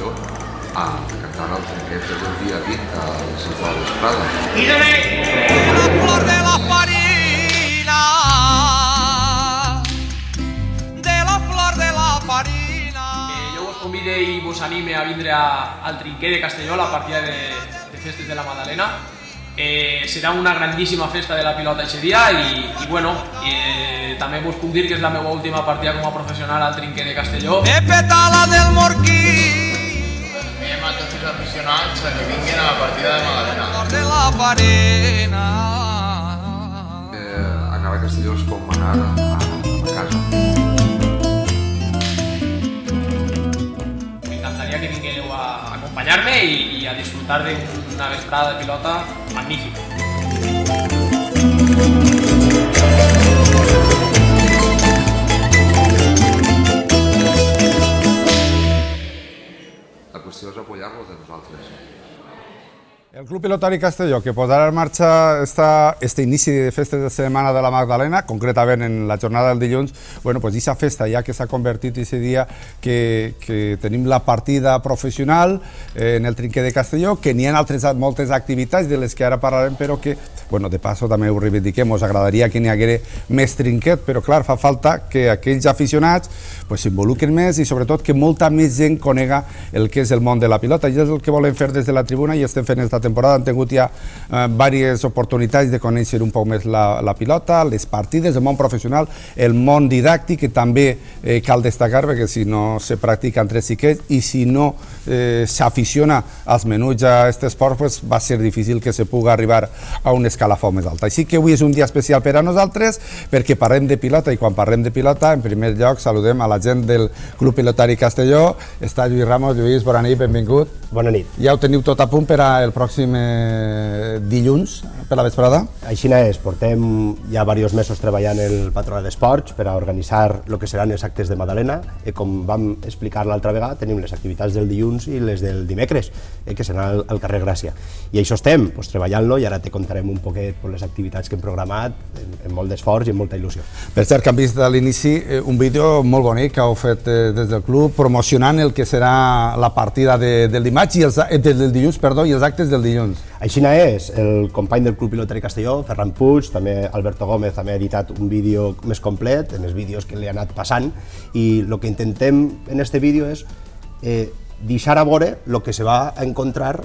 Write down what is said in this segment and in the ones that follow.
Castelló cantant el trinquet del dia 20 a les 6 de la vesprada. La flor de la farina, de la flor de la farina. Jo vos convide i vos anime a vindre al trinquet de Castelló, a la partida de festes de la Madalena. Serà una grandíssima festa de la pilota aquest dia i bueno, també vos puc dir que és la meva última partida com a professional al trinquet de Castelló. Pepe Tala del Morquí, Veiem a tots els aficionats que vinguin a la partida de Madalena. de la farina. Anar a Castelló és com anar a casa. M'encantaria que vingueu a acompanyar-me i a disfrutar d'una vesprada de pilota magnífica. La qüestió és apoyar-los de nosaltres. El Club Pilotari Castelló, que posarà en marxa este inici de festes de Setmana de la Magdalena, concretament en la jornada del dilluns, bueno, pues aquesta festa ja que s'ha convertit aquest dia que tenim la partida professional en el trinquet de Castelló, que n'hi ha moltes activitats de les que ara parlarem, però que, bueno, de passo també ho reivindiquem, ens agradaria que n'hi hagués més trinquet, però clar, fa falta que aquells aficionats s'involucren més i sobretot que molta més gent conega el que és el món de la pilota, i és el que volem fer des de la tribuna i estem fent esta temporada. Han tingut ja diverses oportunitats de conèixer un poc més la pilota, les partides, el món professional, el món didàctic, que també cal destacar, perquè si no se practica entre xiquets i si no s'aficiona als menuts a aquest esport, va ser difícil que se pugui arribar a un escalafó més alt. Així que avui és un dia especial per a nosaltres, perquè parlem de pilota, i quan parlem de pilota, en primer lloc saludem a la gent del Club Pilotari Castelló. Està Lluís Ramos. Lluís, bona nit, benvingut. Bona nit. Ja ho teniu tot a punt per al pròxim dilluns, per la vesprada? Així és, portem ja diversos mesos treballant el Patronat d'Esports per a organitzar el que seran els actes de Madalena. Com vam explicar l'altra vegada, tenim les activitats del dilluns i les del dimecres, que seran al carrer Gràcia. I això estem, treballant-lo, i ara te contarem un poquet les activitats que hem programat, amb molt d'esforç i amb molta il·lusió. Per cert, que hem vist a l'inici un vídeo molt bonic que heu fet des del club, promocionant el que serà la partida del dimarts i del dilluns, perdó, i els actes del dilluns. Així és, el company del Club Pilotari Castelló, Ferran Puig, també Alberto Gómez, també ha editat un vídeo més complet, en els vídeos que li ha anat passant, i el que intentem en aquest vídeo és deixar a veure el que se va a encontrar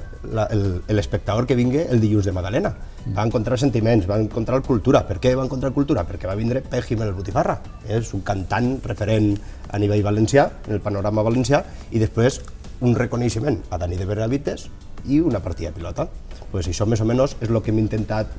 l'espectador que vingui el dilluns de Madalena. Va encontrar sentiments, va encontrar cultura. Per què va encontrar cultura? Perquè va vindre Pep Jiménez Botifarra. És un cantant referent a nivell valencià, en el panorama valencià, i després un reconeixement a Dani de Benavites i una partida de pilota. Això més o menys és el que hem intentat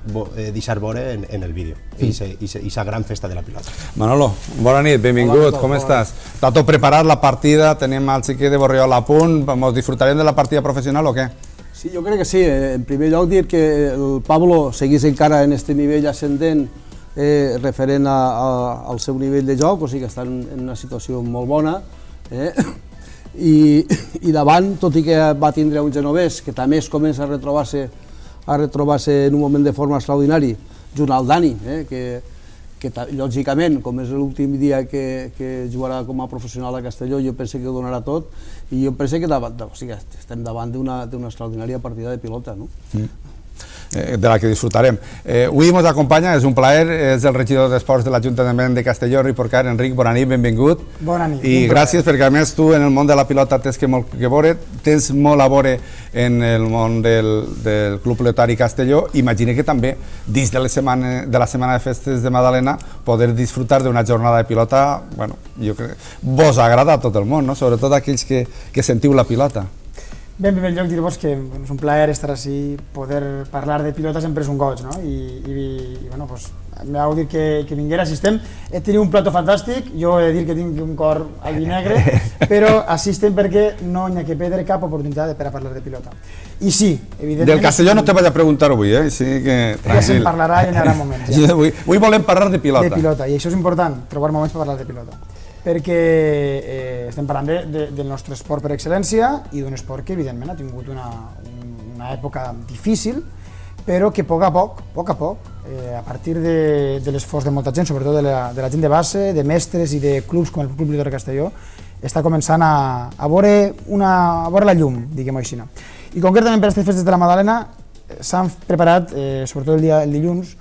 deixar veure en el vídeo, i aquesta gran festa de la pilota. Manolo, bona nit, benvingut, com estàs? Està tot preparat la partida, tenim el xiquet de Borriol a punt, disfrutarem de la partida professional o què? Sí, jo crec que sí. En primer lloc dir que el Pablo seguís encara en aquest nivell ascendent referent al seu nivell de joc, o sigui que està en una situació molt bona. I davant, tot i que va tindre un genovès que també es comença a retrobar-se en un moment de forma extraordinari, junt al Dani, que lògicament, com és l'últim dia que jugarà com a professional a Castelló, jo penso que ho donarà tot, i jo penso que estem davant d'una extraordinària partida de pilota, no? De la que disfrutarem. Avui ens acompanya, és un plaer, és el regidor d'Esports de l'Ajuntament de Castelló, Enric Porcar. Enric, bona nit, benvingut. Bona nit. I gràcies perquè a més tu en el món de la pilota tens molt que veure, tens molt a veure en el món del Club Pilotari Castelló. Imagina que també, dins de la setmana de festes de Madalena, poder disfrutar d'una jornada de pilota, bueno, jo crec que vos agrada a tot el món, tots aquells que sentiu la pilota. Bé, en primer lloc dir-vos que és un plaer estar així, poder parlar de pilota sempre és un goig, no? I bueno, m'ha de dir que vinguera, si estem, he tingut un plató fantàstic, jo he de dir que tinc un cor al vi negre, però així estem perquè no hi ha que perdre cap oportunitat per a parlar de pilota. I sí, evidentment... Del Castelló no te vaig a preguntar avui, així que tranquil. Ja se'n parlarà i hi haurà moments. Avui volem parlar de pilota. De pilota, i això és important, trobar moments per parlar de pilota. Perquè estem parlant del nostre esport per excel·lència i d'un esport que evidentment ha tingut una època difícil, però que a poc a poc, a partir de l'esforç de molta gent, sobretot de la gent de base, de mestres i de clubs com el Club Pilotari Castelló, està començant a veure la llum, diguem-ho així. I concretament per aquestes festes de la Magdalena s'han preparat, sobretot el dilluns,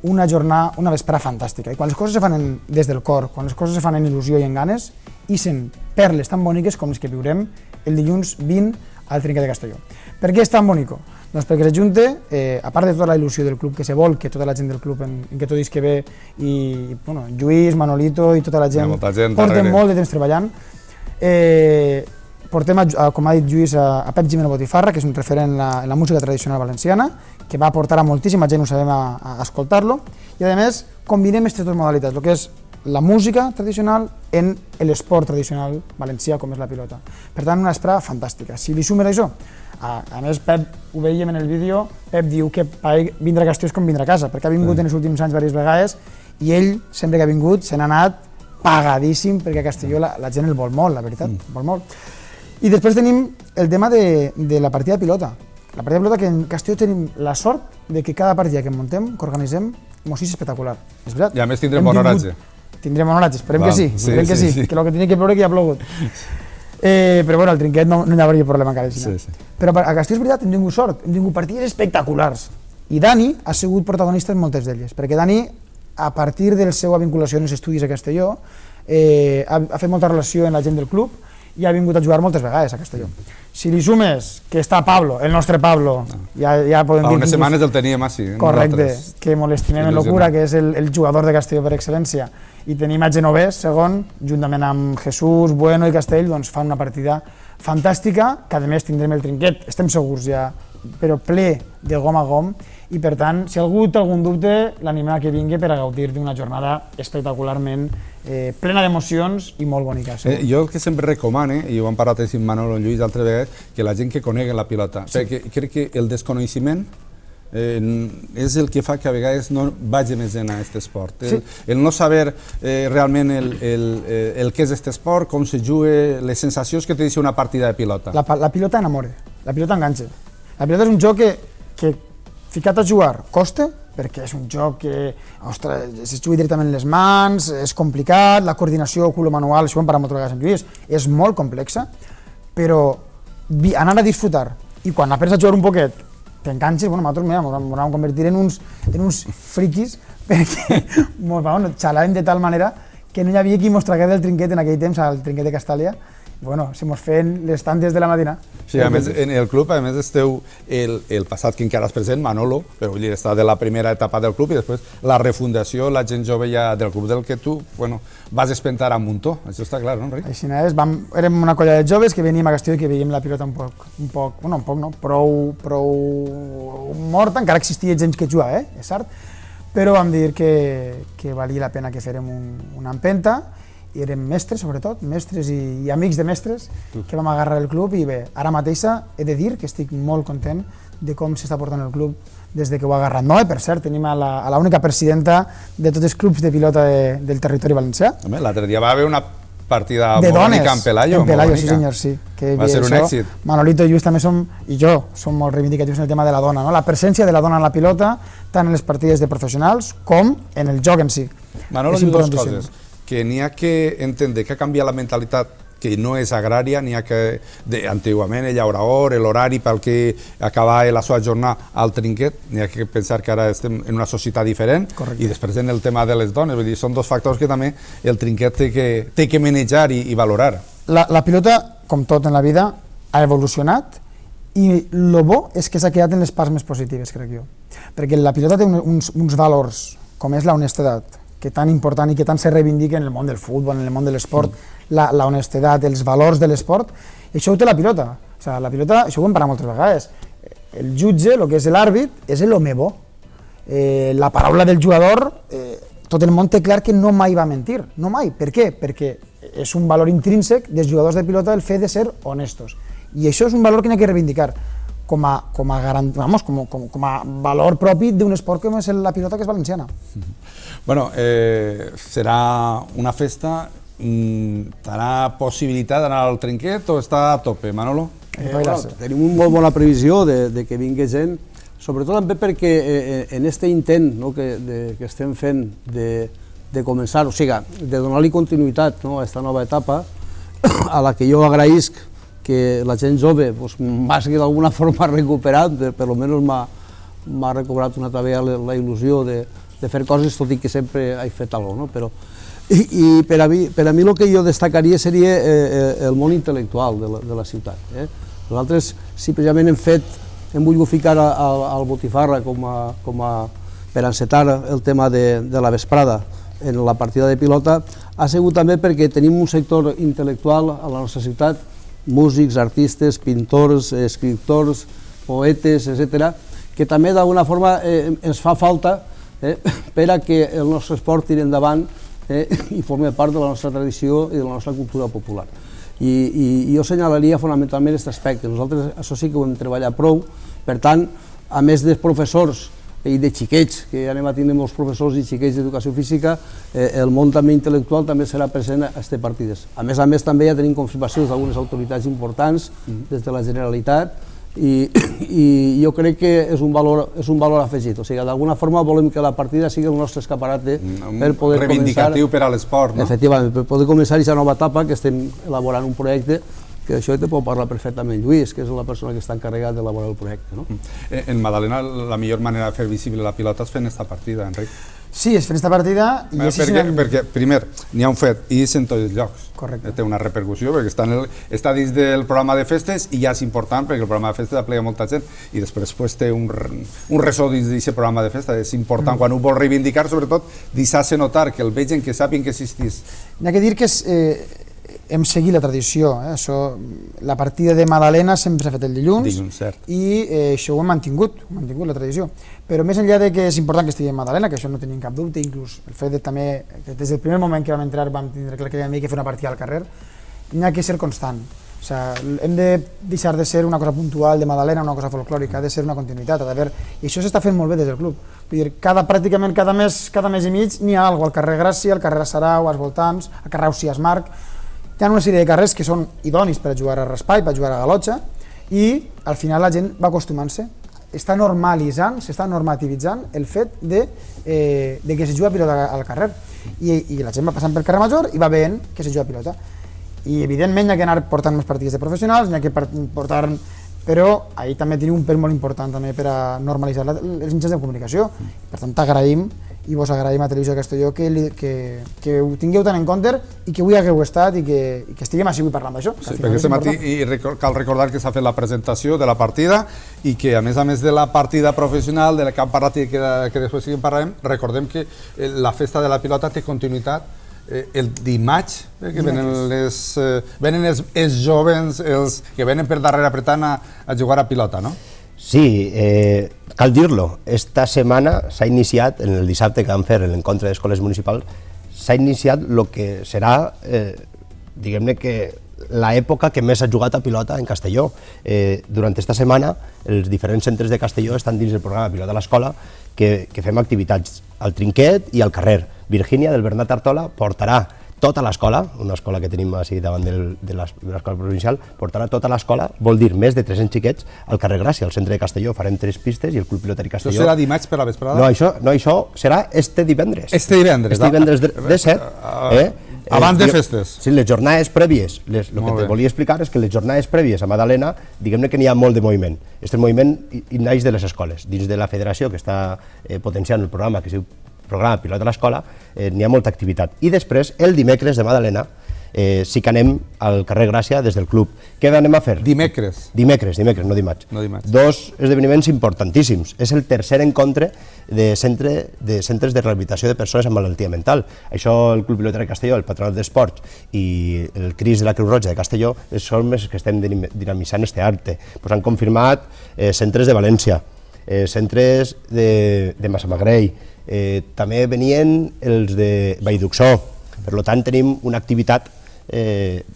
una jornada, una vesprada fantàstica. I quan les coses se fan des del cor, quan les coses se fan en il·lusió i en ganes, ixen perles tan boniques com les que viurem el dilluns 20 al Trinquet de Castelló. Per què és tan bonico? Doncs perquè s'ajunta, a part de tota la il·lusió del club que se vol, que tota la gent del club en que tot que ve, i Lluís, Manolito i tota la gent porten molt de temps treballant. Portem, com ha dit Lluís, a Pep Gimeno Botifarra, que és un referent en la música tradicional valenciana, que va portar a moltíssima gent, ho sabem, a escoltar-lo, i a més combinem aquestes dues modalitats, el que és la música tradicional en l'esport tradicional valencià com és la pilota. Per tant, una vesprada fantàstica. Si li sumes això, a més Pep, ho veiem en el vídeo, Pep diu que vindre a Castelló és com vindre a casa, perquè ha vingut en els últims anys diverses vegades i ell, sempre que ha vingut, se n'ha anat pagadíssim, perquè a Castelló la gent el vol molt, la veritat, vol molt. I després tenim el tema de la partida de pilota. La partida de pilota, que en Castelló tenim la sort de que cada partida que muntem, que organitzem, mos és espectacular. És veritat? I a més tindrem bon oratge. Tindrem bon oratge, esperem que sí, que el que tenia que ploure que ja ha plogut. Però bueno, al Trinquet no hi hauria problema encara. Però a Castelló és veritat, hem tingut sort, hem tingut partides espectaculars. I Dani ha sigut protagonista en moltes d'elles, perquè Dani, a partir de la seva vinculació en els estudis a Castelló, ha fet molta relació amb la gent del club i ha vingut a jugar moltes vegades a Castelló. Si li sumes que està Pablo, el nostre Pablo, ja podem dir... Fa unes setmanes el teníem així. Correcte, que l'estimem en locura, que és el jugador de Castelló per excel·lència. I tenim a Genovès, segon, juntament amb Jesús, Bueno i Castell, doncs fa una partida fantàstica, que a més tindrem el Trinquet, estem segurs ja, però ple de gom a gom, i per tant, si algú té algun dubte, l'animem a que vingui per a gaudir d'una jornada espectacularment plena d'emocions i molt bonica. Jo el que sempre recomano, i ho hem parlat amb Manolo i Lluís altres vegades, que la gent que conegui la pilota, perquè crec que el desconeixement és el que fa que a vegades no vagi més en aquest esport. El no saber realment el que és aquest esport, com se juga, les sensacions que te deixa una partida de pilota. La pilota enamora, la pilota enganxa. La pilota és un joc que ficat a jugar costa, perquè és un joc que es juga directament en les mans, és complicat, la coordinació culo-manual, això ho hem parlat moltes vegades amb Lluís, és molt complexa, però anar a disfrutar i quan aprendes a jugar un poquet t'enganxes, nosaltres ens vam convertir en uns friquis perquè xalàvem de tal manera que no hi havia qui mos tragués del Trinquet en aquell temps, al Trinquet de Castàlia. Bueno, se mos feien les tantes de la matina. Sí, a més, en el club, a més, esteu el passat que encara és present, Manolo, però vull dir, està de la primera etapa del club i després la refundació, la gent jove ja del club del que tu, vas espentar a muntó, això està clar, no, Enric? Així és, érem una colla de joves que veníem a Castelló i que veiem la pilota prou morta, encara existia gent que jugava, és cert, però vam dir que valia la pena que férem una empenta. I érem mestres, sobretot, mestres i amics de mestres que vam agarrar el club i bé, ara mateixa he de dir que estic molt content de com s'està portant el club des que ho ha agarrat. No, per cert, tenim a l'única presidenta de tots els clubs de pilota del territori valencià. L'altre dia va haver una partida bonica en Pelayo. En Pelayo, sí senyor, sí. Va ser un èxit. Manolito i Lluís també i jo som molt reivindicatius en el tema de la dona, la presència de la dona en la pilota, tant en les partides de professionals com en el joc en si. Manolo diu dues coses. Que n'hi ha que entendre que ha canviat la mentalitat que no és agrària, n'hi ha que antigament el llauraor, l'horari pel que acabava la seva jornada al Trinquet, n'hi ha que pensar que ara estem en una societat diferent i després en el tema de les dones, vull dir, són dos factors que també el Trinquet té que manejar i valorar. La pilota, com tot en la vida, ha evolucionat i el bo és que s'ha quedat en les parts més positives, crec jo, perquè la pilota té uns valors, com és la honestedat, que tan important i que tant se reivindica en el món del futbol, en el món de l'esport, la honestedat, els valors de l'esport, i això ho té la pilota. La pilota, això ho hem parlat moltes vegades, el jutge, el que és l'àrbit, és l'home bo. La paraula del jugador, tot el món té clar que no mai va mentir, no mai. Per què? Perquè és un valor intrínsec dels jugadors de pilota el fet de ser honestos. I això és un valor que n'hi ha que reivindicar com a valor propi d'un esport com és la pilota, que és valenciana. Bueno, serà una festa, tindrà possibilitat d'anar al Trinquet o està a tope, Manolo? Tenim una molt bona previsió de que vingui gent, sobretot també perquè en aquest intent que estem fent de començar, o sigui, de donar-li continuïtat a aquesta nova etapa, a la que jo agraïsc que la gent jove m'hagi d'alguna forma recuperat, per almenys m'ha recuperat una altra vegada la il·lusió de fer coses, tot i que sempre he fet alguna cosa. I per a mi el que jo destacaria seria el món intel·lectual de la ciutat. Nosaltres, si precisament hem volgut ficar al Botifarra per encetar el tema de la vesprada en la partida de pilota, ha sigut també perquè tenim un sector intel·lectual a la nostra ciutat, músics, artistes, pintors, escriptors, poetes, etc., que també d'alguna forma ens fa falta per a que el nostre esport tiri endavant i formi part de la nostra tradició i de la nostra cultura popular. I jo assenyalaria fonamentalment aquest aspecte. Nosaltres això sí que ho hem treballat prou, per tant, a més dels professors i de xiquets, que anem a tindre molts professors i xiquets d'educació física, el món també intel·lectual també serà present a aquestes partides. A més també ja tenim confirmacions d'algunes autoritats importants des de la Generalitat i jo crec que és un valor afegit. O sigui, d'alguna forma volem que la partida sigui el nostre escaparate per poder començar... Reivindicatiu per a l'esport, no? Efectivament, per poder començar aquesta nova etapa, que estem elaborant un projecte que d'això te pot parlar perfectament Lluís, que és la persona que està encarregat d'elaborar el projecte. En Madalena, la millor manera de fer visible la pilota és fent aquesta partida, Enric. Sí, és fent aquesta partida... Perquè, primer, n'hi ha un fet, i és en tots els llocs. Correcte. Té una repercussió, perquè està dins del programa de festes i ja és important, perquè el programa de festes aplega molta gent, i després té un ressò dins d'aquest programa de festes. És important, quan ho vol reivindicar, sobretot, deixar-se notar, que el vegin, que sàpiguen que existís. N'hi ha que dir que hem seguit la tradició. La partida de Madalena sempre s'ha fet el dilluns i això ho hem mantingut la tradició. Però més enllà de que és important que estigui en Madalena, que això no tenim cap dubte, inclús el fet també que des del primer moment que vam entrar vam tindre clar que havíem de fer una partida al carrer, n'hi ha que ser constant. Hem de deixar de ser una cosa puntual de Madalena, una cosa folclòrica, ha de ser una continuïtat. I això s'està fent molt bé des del club. Pràcticament cada mes i mig n'hi ha alguna cosa al carrer Gràcia, al carrer Sarau, als voltants, al carrer Ausiàs Marc. Hi ha una sèrie de carrers que són idonis per a jugar a raspall, per a jugar a galotxa, i al final la gent va acostumant-se. Està normalitzant, s'està normativitzant el fet de que se juga a pilota al carrer. I la gent va passant pel carrer Major i va veient que se juga a pilota. I evidentment hi ha que anar portant més partides de professionals, n'hi ha que portar... Però ahir també tenim un pèl molt important també per a normalitzar els mitjans de comunicació. Per tant, t'agraïm i vos agraïm a Televisió de Castelló que ho tingueu tant en compte i que avui hagueu estat i que estiguem així avui parlant d'això. Sí, perquè aquest matí cal recordar que s'ha fet la presentació de la partida i que a més de la partida professional de la que hem parlat i que després parlarem, recordem que la festa de la pilota té continuïtat el dimarts, que venen els joves, els que venen per darrere apretant a jugar a pilota, no? Sí, cal dir-lo, esta setmana s'ha iniciat, en el dissabte que vam fer l'encontre d'escoles municipals, s'ha iniciat el que serà, diguem-ne que l'època que més ha jugat a pilota en Castelló. Durant aquesta setmana, els diferents centres de Castelló estan dins del programa Pilota a l'Escola, que fem activitats al Trinquet i al carrer. Virgínia, del Bernat Artola, portarà tota l'escola, una escola que tenim així davant de l'escola provincial, portarà tota l'escola, vol dir més de 300 xiquets, al carrer Gràcia, al centre de Castelló. Farem 3 pistes i el Club Pilotari Castelló... Això serà dimarts per la vesprada? No, això serà este divendres. Este divendres? Este divendres de 7. Abans de festes? Sí, les jornades prèvies. El que te volia explicar és que les jornades prèvies a Madalena, diguem-ne que n'hi ha molt de moviment. Aquest moviment naix de les escoles. Dins de la federació que està potenciant el programa, que es diu Programa Pilota a l'Escola, n'hi ha molta activitat. I després, el dimecres de Madalena, sí que anem al carrer Gràcia des del club. Què anem a fer? Dimecres? Dimecres, no dimarts. Dos esdeveniments importantíssims. És el tercer encontre de centres de rehabilitació de persones amb malaltia mental. Això el Club Pilotari Castelló, el Patronat d'Esports i el CRIS de la Creu Roja de Castelló són els que estem dinamitzant este arte. Han confirmat centres de València, centres de Massamagrell, també venien els de Vallduxó. Per tant, tenim una activitat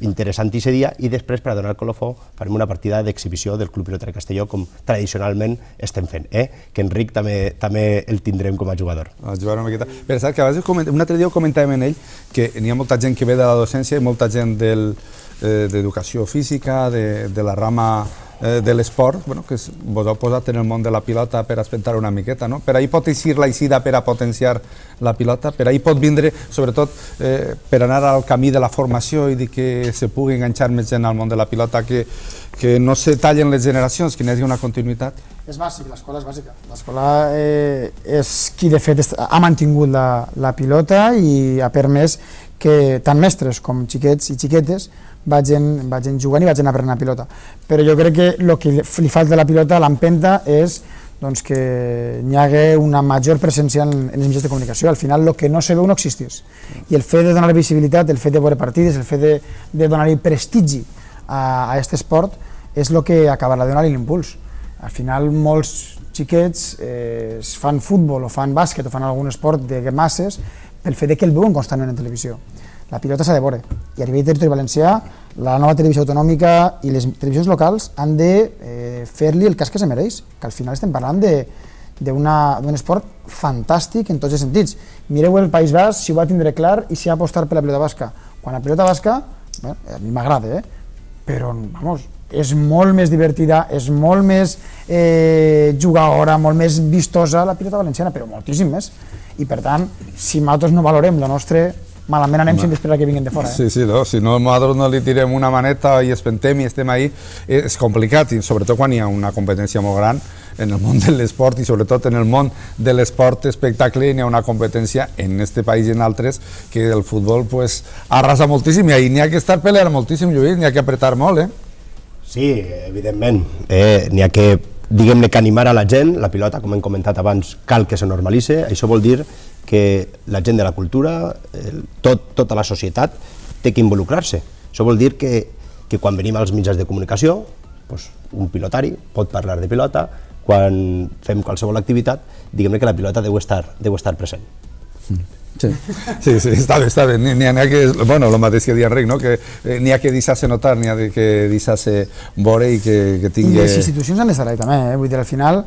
interessant aquest dia i després, per a donar el colofó, farem una partida d'exhibició del Club Pilotari Castelló com tradicionalment estem fent, que Enric també el tindrem com a jugador. Però saps que un altre dia ho comentàvem en ell, que n'hi ha molta gent que ve de la docència i molta gent d'educació física, de la rama de l'esport, que vos heu posat en el món de la pilota per aspectar una miqueta, no? Per ahí pot eixir la eixida per a potenciar la pilota, per ahí pot vindre, sobretot, per anar al camí de la formació i que se pugui enganxar més gent al món de la pilota, que no se tallen les generacions, que n'hi hagi una continuïtat. És bàsic, l'escola és bàsica. L'escola és qui de fet ha mantingut la pilota i ha permès que tant mestres com xiquets i xiquetes vagin jugant i vagin aprenent a pilota. Però jo crec que el que li falta a la pilota, l'empenta, és que n'hi hagi una major presència en els mitjans de comunicació. Al final, el que no se veu no existeix. I el fet de donar visibilitat, el fet de veure partides, el fet de donar-hi prestigi a aquest esport és el que acabarà de donar-li l'impuls. Al final, molts xiquets fan futbol o fan bàsquet o fan algun esport de masses pel fet que el veuen constantment en televisió. La pilota s'ha de veure, i a nivell de territori valencià, la nova televisió autonòmica i les televisions locals han de fer-li el cas que se mereix, que al final estem parlant d'un esport fantàstic en tots els sentits. Mireu el País Basc, si ho va tindre clar i si ha apostat per la pilota basca. Quan la pilota basca, a mi m'agrada, però, vamos, és molt més divertida, és molt més jugadora, molt més vistosa la pilota valenciana, però moltíssim més. I per tant, si nosaltres no valorem la nostra, malament anem sense esperar que vinguin de fora. Sí, si no nosaltres no li tirem una maneta i espentem i estem ahí, és complicat, i sobretot quan hi ha una competència molt gran en el món de l'esport i sobretot en el món de l'esport espectacle hi ha una competència en este país i en altres que el futbol arrasa moltíssim i ahí n'hi ha que estar peleant moltíssim, Lluís, n'hi ha que apretar molt, Sí, evidentment, n'hi ha que, diguem-ne, que animar a la gent, la pilota, com hem comentat abans, cal que se normalitzi, això vol dir que la gent de la cultura, tota la societat, té que involucrar-se. Això vol dir que quan venim als mitjans de comunicació, un pilotari pot parlar de pilota, quan fem qualsevol activitat, diguem-ne que la pilota deu estar present. Sí, està bé. N'hi ha que, bueno, el mateix que deia Enric, que n'hi ha que deixar-se notar, n'hi ha que deixar-se veure i que tingui... I les institucions han d'estar ahí també, vull dir, al final,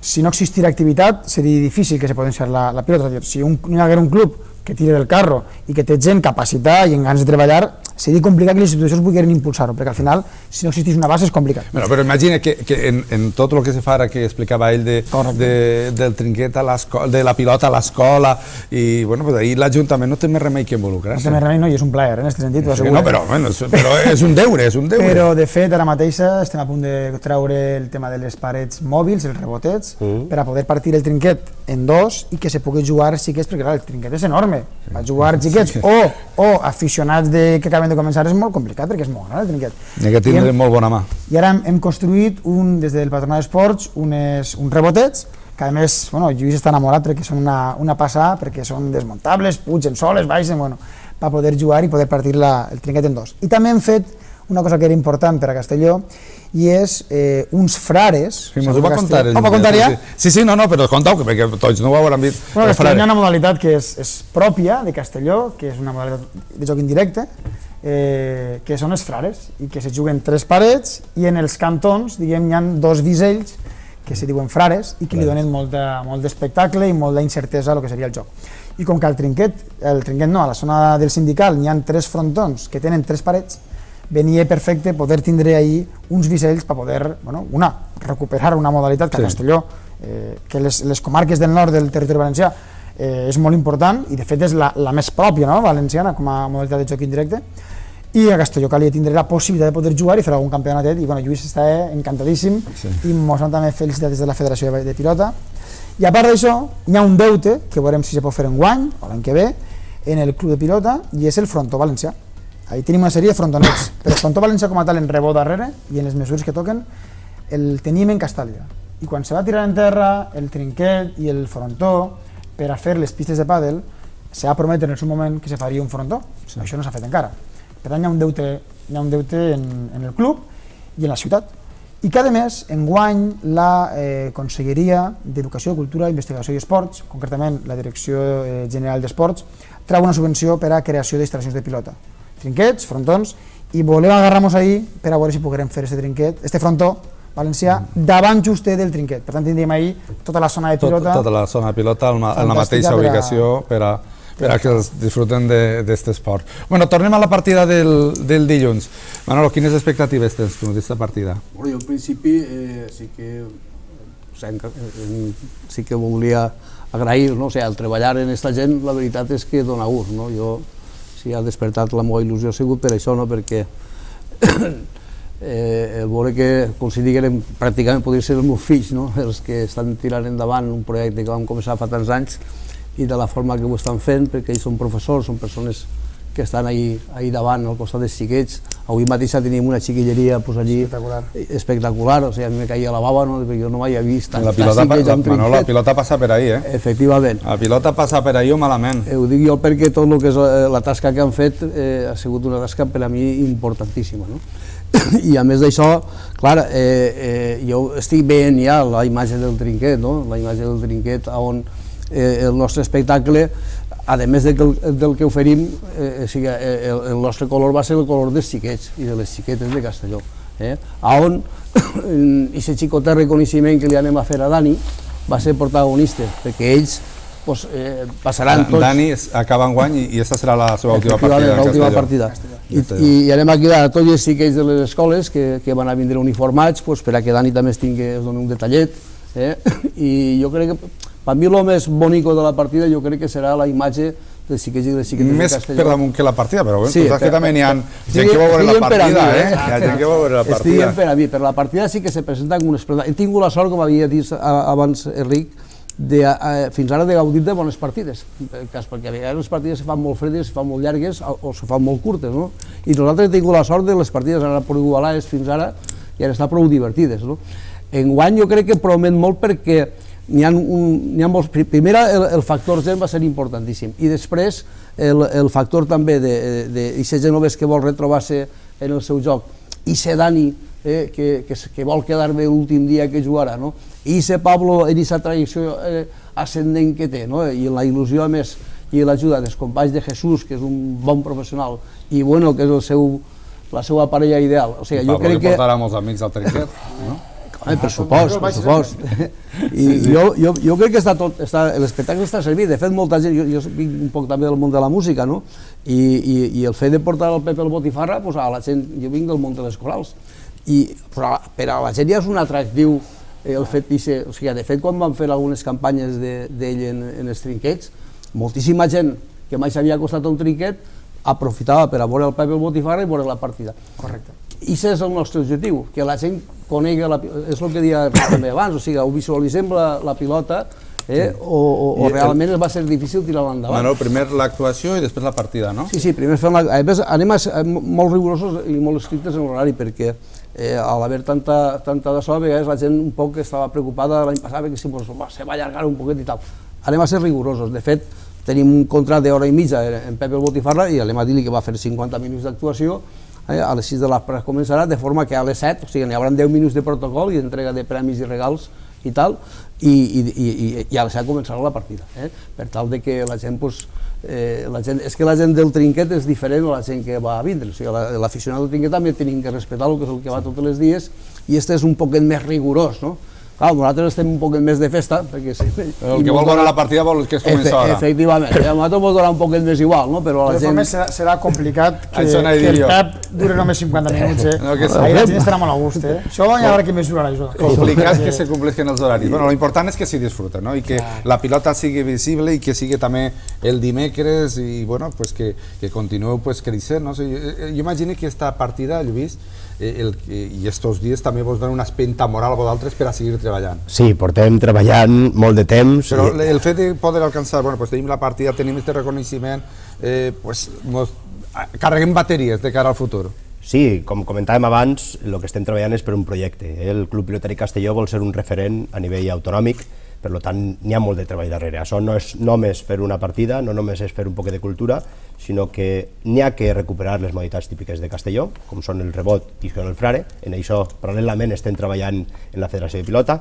si no existira activitat, seria difícil que se potenciar la pilota. Si no hi hagués un club que tira del carro i que té gent capacitada i en ganes de treballar, seria complicat que les institucions vulguin impulsar-ho, perquè al final, si no existís una base, és complicat. Però imagina que en tot el que se fa ara, que explicava ell del trinquet, de la pilota a l'escola, i ahir l'Ajuntament no té més remei que involucrar-se. No té més remei, no, i és un plaer, en aquest sentit, t'ho asseguro. No, però és un deure, Però, de fet, ara mateix estem a punt de treure el tema de les parets mòbils, els rebotets, per a poder partir el trinquet en dos i que se pugui jugar xiquets, perquè el trinquet és enorme. Per jugar xiquets o aficionats que acaben de començar és molt complicat perquè és molt gran el trinquet. N'hi ha que tindre molt bona mà. I ara hem construït des del Patronat d'Esports uns rebotets que a més, Lluís està enamorat perquè són una passada, perquè són desmuntables, pugen soles, baixen, per poder jugar i poder partir el trinquet en dos. I també hem fet una cosa que era important per a Castelló i és uns frares... Sí, m'ho va contar. Ho va contar ja? Sí, però contau, perquè tots no ho hauran vist. Hi ha una modalitat que és pròpia de Castelló, que és una modalitat de joc indirecte, que són els frares, i que se juguen 3 parets, i en els cantons, diguem, hi ha 2 bisells que se diuen frares i que li donen molt d'espectacle i molt d'incertesa a lo que seria el joc. I com que al trinquet no, a la zona del sindical n'hi ha 3 frontons que tenen 3 parets, venia perfecte poder tindre ahí uns bisells per poder, recuperar una modalitat que a Castelló, que les comarques del nord del territori valencià és molt important i de fet és la més pròpia valenciana com a modalitat de joc indirecte, i a Castelló calia tindre la possibilitat de poder jugar i fer algun campionatet, i Lluís està encantadíssim i mos han també felicitat des de la Federació de Pilota. I a part d'això, hi ha un deute que veurem si se pot fer enguany o l'any que ve en el club de pilota, i és el frontó valencià. Ahí tenim una sèrie de frontonets, però el frontó valencià com a tal en rebot darrere i en les mesures que toquen el tenim en Castàlia, i quan se va tirar en terra el trinquet i el frontó per a fer les pistes de pàdel se va prometre en el seu moment que se faria un frontó, això no s'ha fet encara. Per tant, hi ha un deute en el club i en la ciutat. I cada mes, enguany, la Conselleria d'Educació, Cultura, Investigació i Esports, concretament la Direcció General d'Esports, treu una subvenció per a creació d'instal·lacions de pilota. Trinquets, frontons, i volem agarrar-nos ahir per a veure si podrem fer aquest trinquet, este frontó valencià, davant justet del trinquet. Per tant, tindríem ahir tota la zona de pilota. Tota la zona de pilota en la mateixa ubicació per a per a que els disfruten d'aquest esport. Bueno, tornem a la partida del dilluns. Manolo, quines expectatives tens tu d'aquesta partida? Bueno, jo en principi sí que volia agrair, no? O sigui, el treballar en aquesta gent, la veritat és que dona gust, no? Jo, si ha despertat la meva il·lusió, ha sigut per això, no? Perquè el veure que, com si diguem, pràcticament podrien ser els meus fills, no? Els que estan tirant endavant un projecte que vam començar fa tants anys i de la forma que ho estan fent, perquè ells són professors, són persones que estan ahí davant, al costat dels xiquets. Avui mateix teníem una xiquilleria allí espectacular, o sigui, a mi me caia la bava, perquè jo no m'havia vist tants xiquets amb trinquet. Manolo, la pilota passa per ahí, Efectivament. La pilota passa per ahí o malament. Ho dic jo perquè tot el que és la tasca que han fet ha sigut una tasca per a mi importantíssima, no? I a més d'això, clar, jo estic veient ja la imatge del trinquet, no? La imatge del trinquet on el nostre espectacle, a més del que oferim, el nostre color va ser el color dels xiquets i de les xiquetes de Castelló, on aquest xicotè reconeixement que li anem a fer a Dani va ser protagonista, perquè ells passaran tots... Dani acaba enguany i aquesta serà la seva última partida a Castelló. I anem a cridar a tots els xiquets de les escoles que van a vindre uniformats per a que Dani també es doni un detallet, i jo crec que per mi el més bonic de la partida jo crec que serà la imatge dels xiquets i les xiquetes de Castelló. Més per damunt que la partida, però tu saps que també hi ha gent que va veure la partida, Hi ha gent que va veure la partida. Estic per a mi, per la partida sí que se presenta com un espectacle. He tingut la sort, com havia dit abans Enric, fins ara de gaudir de bones partides, perquè a vegades les partides se fan molt fredes, se fan molt llargues o se fan molt curtes, no? I nosaltres hem tingut la sort de les partides han anat prou igualades fins ara i han estat prou divertides, no? Enguany jo crec que promet molt perquè n'hi ha molts... Primer el factor gent va ser importantíssim i després el factor també d'aquest genovès que vol retrobar-se en el seu joc i ser Dani que vol quedar bé l'últim dia que jugarà, no? I ser Pablo en aquesta trajecció ascendent que té, no? I la il·lusió a més i l'ajuda dels companys de Jesús, que és un bon professional, i bueno, que és la seva parella ideal. Pablo que portarà molts amics al trinquet, no? Per supost. I jo crec que l'espectacle està servit. De fet, molta gent, jo vinc un poc també del món de la música, no? I el fet de portar el Pepe el Botifarra, a la gent, jo vinc del món de les corals, i per a la gent ja és un atractiu el fet de fet, quan van fer algunes campanyes d'ell en els trinquets, moltíssima gent que mai s'havia acostat a un trinquet aprofitava per a veure el Pepe el Botifarra i veure la partida. Correcte. I aquest és el nostre objectiu, que la gent conegui, és el que deia també abans, o sigui, ho visualitzem la pilota o realment va ser difícil tirar-la endavant. Bueno, primer l'actuació i després la partida, no? Sí, primer fem a més, anem molt rigorosos i molt estrictes en l'horari, perquè a l'haver tanta de so, a vegades la gent un poc estava preocupada l'any passat que se va allargar un poquet i tal. Anem a ser rigorosos, de fet, tenim un contracte d'hora i mitja en Pepe el Botifarra i anem a dir-li que va fer 50 minuts d'actuació, a les 6 de l'espre començarà, de forma que a les 7, o sigui, n'hi haurà 10 minuts de protocol i d'entrega de premis i regals i tal, i a les 7 començarà la partida, per tal que la gent, és que la gent del trinquet és diferent a la gent que va a vindre, o sigui, l'aficionat del trinquet també tenim que respectar el que és el que va tots els dies, i este és un poquet més rigorós, no? Clar, nosaltres estem un poquet més de festa, perquè... El que vol veure la partida vol que es comença ara. Efectivament, a nosaltres ens donarà un poquet més igual, no? Però la gent... serà complicat que el Pep dure només 50 minuts, Ahir la gent estarà molt a gust, Això hi haurà que mesurar, això. Complicat que se compleixin els horaris. Bueno, l'important és que s'hi disfruten, no? I que la pilota sigui visible i que sigui també el dimecres i, bueno, que continueu creixent, no? Jo imagino que aquesta partida, Lluís, i estos dies també vos donen una espenta moral a vosaltres per a seguir treballant. Sí, portem treballant molt de temps. Però el fet de poder alcançar, tenim la partida, tenim aquest reconeixement, carreguem bateries de cara al futur. Sí, com comentàvem abans, el que estem treballant és per un projecte. El Club Pilotari Castelló vol ser un referent a nivell autonòmic, per tant, n'hi ha molt de treball darrere. Això no és només fer una partida, no només és fer un poc de cultura, sinó que n'hi ha que recuperar les modalitats típiques de Castelló, com són el rebot i el frare. En això, paral·lelament, estem treballant en la Federació de Pilota.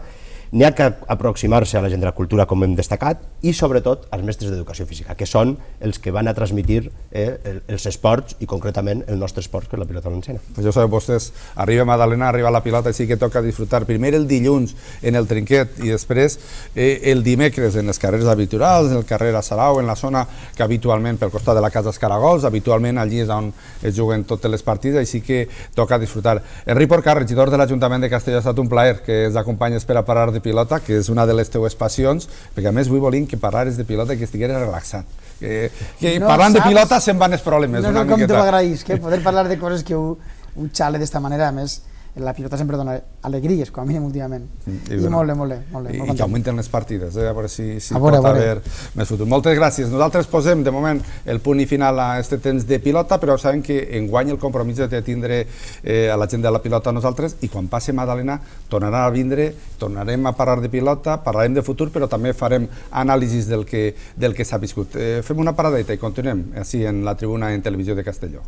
N'hi ha que aproximar-se a la gent de la cultura, com hem destacat, i sobretot als mestres d'educació física, que són els que van a transmitir els esports i concretament el nostre esport, que és la pilota valenciana. Pues ja sabeu vostès, arriba Madalena, arriba la pilota, i sí que toca disfrutar primer el dilluns en el Trinquet i després el dimecres en les carreres habituals, en el carrer a Sarau, en la zona que habitualment pel costat de la Casa Escaragols, habitualment allí és on es juguen totes les partides, i sí que toca disfrutar. Enric Porcar, regidor de l'Ajuntament de Castelló, ha estat un plaer que ens acompanyes per a parlar de pilota, que és una de les teues passions, perquè a més avui volim que parlares de pilota i que estigueres relaxat. Que parlant de pilota se'n van els problemes. No com te m'agraïs, poder parlar de coses que un xale d'esta manera, a més, la pilota sempre dona alegries, com a mínim últimament. I molt bé. I que augmenten les partides, a veure si pot haver més futur. Moltes gràcies. Nosaltres posem, de moment, el punt i final a aquest temps de pilota, però sabem que enguany el compromís de tindre a la gent de la pilota a nosaltres, i quan passi Madalena tornarà a vindre, tornarem a parlar de pilota, parlarem de futur, però també farem anàlisis del que s'ha viscut. Fem una paradeta i continuem així en la tribuna en Televisió de Castelló.